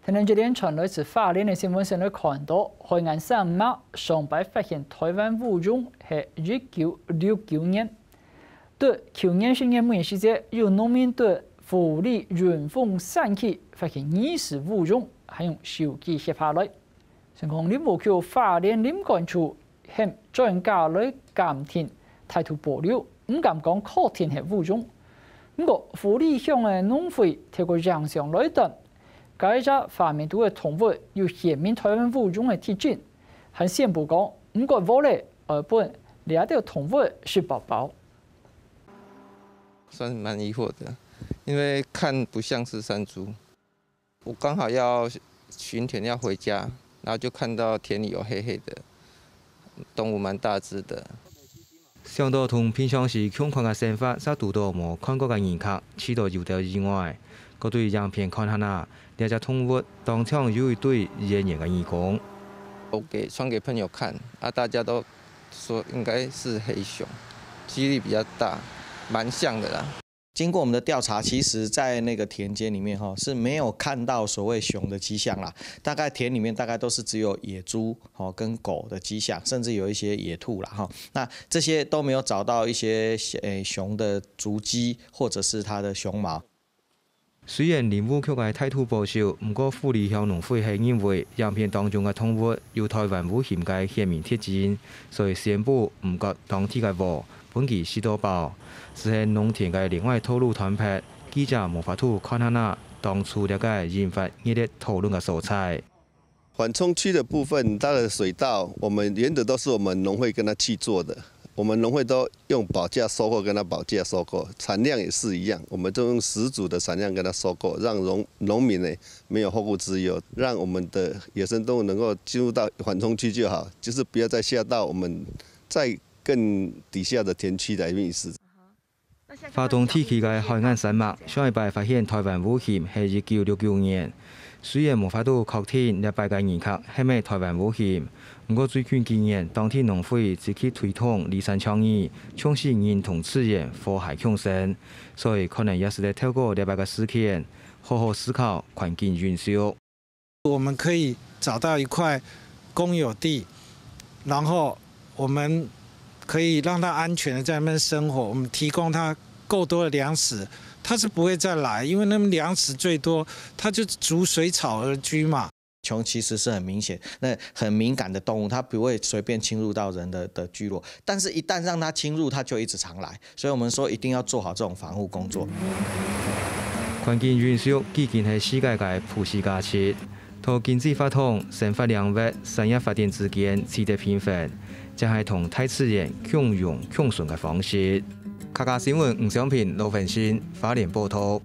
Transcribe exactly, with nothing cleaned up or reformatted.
𫣆俚這段傳來自花蓮个新聞先來看到，海岸山脈上擺發現臺灣烏熊係一九六九年。對舊年十月尾時節，有農民對埔里雲峰山區發現疑似烏熊，還用手機翕下來。 成功林務局花蓮林管處喊專家來鑑定，態度保留，毋敢講確定係烏熊。毋過埔里鄉个農會透過影像來斷，該隻畫面肚个動物有顯明臺灣烏熊个特徵，還宣布講毋敢挖咧，愛分這兜動物食飽飽。算蠻疑惑的，因為看不像是山豬。 我剛好要巡田要回家，然後就看到田裡有黑黑的，動物蠻大隻的。想到同平常時共款个生活，煞堵到無看過个人客，試著有兜意外。過對影片看下啊，這隻動物當像有一對圓圓个耳公。我給傳給朋友看，啊，大家都說應該是黑熊，機率比較大，蠻像的啦。 經過我們的調查，其實在那個田間裡面哈是沒有看到所謂熊的跡象啦，大概田裡面大概都是只有野豬哈跟狗的跡象，甚至有一些野兔啦哈。那這些都沒有找到一些誒熊的足跡或者是它的熊毛。雖然林務局个態度保守，毋過埔里鄉農會係認為影片當中个動物有臺灣烏熊个顯明特徵，所以宣布毋割當地个禾。 分佢食到飽。就係農田个另外道路斷忒，記者無法度看下啊當初這个引發熱烈討論个所在。緩衝區的部分，它的水道，我們原則都是我們農會跟他去做的，我們農會都用保價收購，跟他保價收購，產量也是一樣，我們都用十足的產量跟他收購，讓農農民呢沒有後顧之憂，讓我們的野生動物能夠進入到緩衝區就好，就是不要再下到我們再 更底下的田區來覓食。花東地區个海岸山脈，上一擺發現臺灣烏熊係一九六九年。雖然無法度確定這擺个人客係毋係臺灣烏熊，毋過最近幾年，當地農會積極推動離山倡議，重視人同自然和諧共生，所以可能也係在透過這擺个事件，好好思考環境永續。 我们可以找到一块公有地，然后我们可以让它安全的在那边生活，我们提供它够多的粮食，它是不会再来，因为那边粮食最多，它就逐水草而居嘛。熊其实是很明显，那很敏感的动物，它不会随便侵入到人的的聚落，但是一旦让它侵入，它就一直常来。 所以我们说一定要做好这种防护工作。环境永续既经系世界个普世价值，同经济发展、生活领域、产业发展之间取得平衡，正系同大自然共荣共存个方式。客家新闻吴尚平、罗文新，花莲报道。